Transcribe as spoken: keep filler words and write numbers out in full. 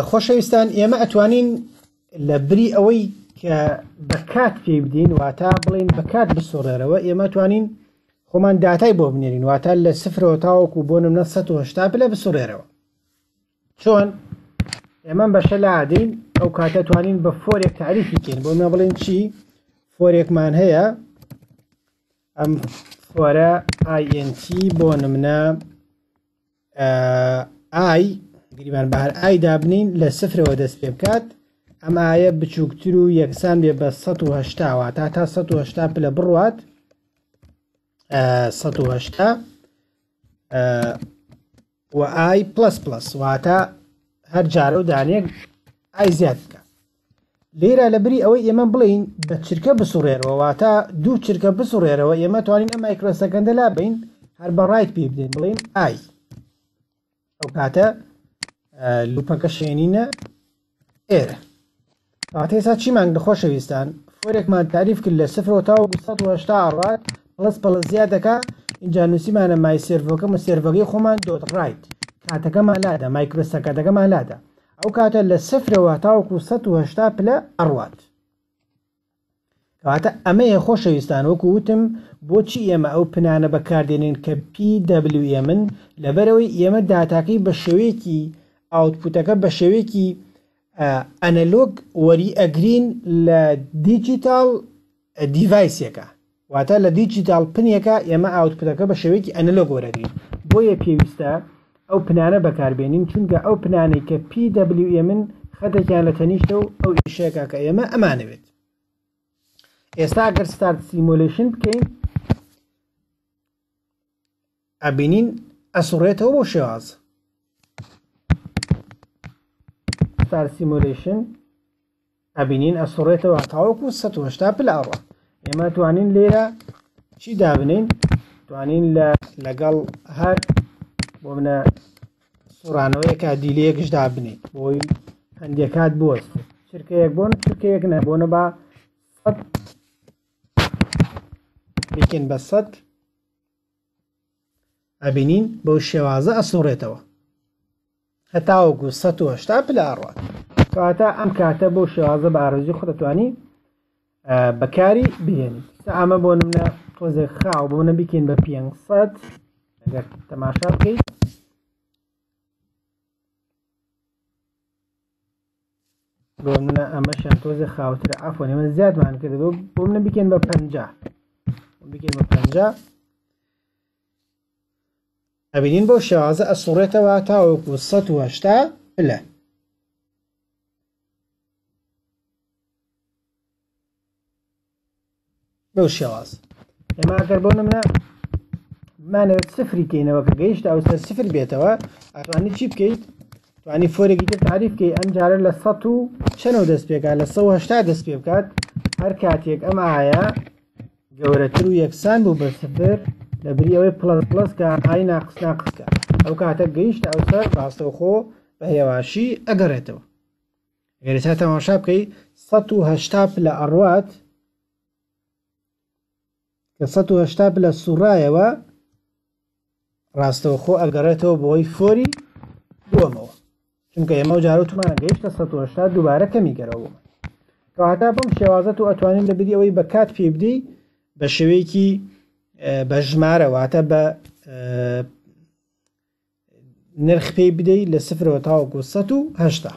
خۆشەویستان، ئێمە ئەتوانین لە بری ئەوەی کە بە کات پێی بدەین، واتە بڵین بە کات بسوڕێرەوە، ئێمە توانین خۆمان داتای بۆ بنێرین، واتە لە سفرەوە تاوەکو بۆ نمونە سەد و هەشتا پلە بسوڕێرەوە. چۆن؟ ئێمە بەشە لادەین، ئەو کاتە توانین بە for ێک تاریفی بکەین. بۆ منە بڵێن چی؟ for ێکمان هەیە، ئەم for ە int بۆ نمونە i گریمان بە هەر i دابنین لە سفرەوە دەست پێ بکات، ئەم i یە بچووکتر و یەکسان بێ بە سەد و هەشتا، واتە تا سەد و هەشتا پلە بڕوات، سەد و هەشتا و i plus plus، واتە هەر جارە و دانێک i زیاد بکە. لێرە لەبری ئەوەی ئێمە بڵین بە چرکە بسوڕێرەوە، واتە دوو چرکە بسوڕێرەوە، ئێمە توانین ئەم microsecond ە لا بین هەر بە write پێ بدەین، بڵین i. ئەو کاتە loop ەکە شێنینە ئێرە. واتە ئێستا چیمان لە خۆشەویستان؟ for ێکمان تاریف کرد لە سفرەوە تاوەکو سەد و هەشتا ئەڕات، plus plus زیاد دەکا. اینجا نووسیمانە my servo کە servo کەی خۆمان dot write، کاتەکەمان لادا، microsecond ەکەمان لادا. ئەو کاتە لە سفرەوە تاوەکو سەد و هەشتا پلە ئەڕوات. کەواتە ئەمەیە خۆشەویستان، وەکو وتم بۆچی ئێمە ئەو pin انە بەکاردێنین کە P W M ن؟ لەبەرەوەی ئێمە داتاکەی بە شێوەیەکی output ەکە بە شێوەیەکی analog وەری ئەگرین لە digital device ێکە، واتە لە digital pin ێکە ئێمە output ەکە بە شێوەیەکی analog وەرەگرین. بۆیە پێویستە ئەو pin انە بەکاربێنین، چونکە ئەو pin انەی کە P W M ن خەتێکیان لە تەنیشتە و ئەو ئیشێکە کە ئێمە ئەمانەوێت. ئێستا ئەگەر start simulation بکەین ئەبینین ئەسوڕێتەوە بۆ شێواز. start simulation ئەبینین ئەسوڕێتەوە تاوەکو سەد و هەشتا پلە ئەڕوا. ئێمە توانین لێرە چی دابنین؟ توانین لەگەڵ هەر بۆ منە سوڕانەوەیەکە delay یەکش دابنین بۆی هەندێک کات بوەستێت، چرکەیەک بۆن چرکەیەک نە، بۆنە با سەد بیکەین بە سەد، ئەبینین بەو شێوازە ئەسوڕێتەوە هەتاوەکو سەد و هەشتا پلە ئەڕوات. کەواتە ئەم کاتە بەو شێوازە بە ئارەزوی خۆت دەتوانی بەکاری بهێنیت. ئەمە بۆ نمونە تۆزێک خاو بۆ منە بیکەین بە پێنج سەد، ئەگەر تەماشا بکەیت بۆ منە ئەمەشیان تۆزێک خاوترە، عەفوەن ئێمە زیادمان کرد، بۆ منە بیکەین بە پەنجا، بیکەین بە پەنجا، ئەبینین بەو شێوازە ئەسوڕێتەوە تاوەکو سەد و هەشتا پلە. بەو شێواز ئێمە ئەگەر بۆ نمونە بمانەوێت سفری کەینەوە کە گەیشتە ئەو سەر سفر بێتەوە، ئەتوانی چی بکەیت؟ توانی for ێکی تر تعریف بکەیت، ئەم جارە لە سەد و چەنەوە دەست پێکات؟ لە سەد و هەشتا دەست پێ بکات. هەر کاتێک ئەم i یە گەورەتر و یەکسان بوو بە سفر، لەبری ئەوەی plus plus کە i ناقس ناقس کە، ئەو کاتە گەیشتە ئەو سەر ڕاستەوخۆ بە هێواشی ئەگەڕێتەوە. ئەگەر ئێستا تەماشا بکەی سەد و هەشتا پلە ئەڕوات، کە سەد و هەشتا پلە سوڕایەوە ڕاستەوخۆ ئەگەڕێتەوە بۆی for ی دووەمەوە، چونکە ئێمە و جارە وتمانە گەیشتە سەد و هەشتا دووبارە کەمی گەرەوە بوومە. کەواتە بەم شێوازە تۆ ئەتوانین لەبری ئەوەی بە کات پێ بدەی بە شێوەیەکی بە ژمارە، واتە بە نرخ پێی بدەی لە سفرەوە تاوەکو سەد و هەشتا.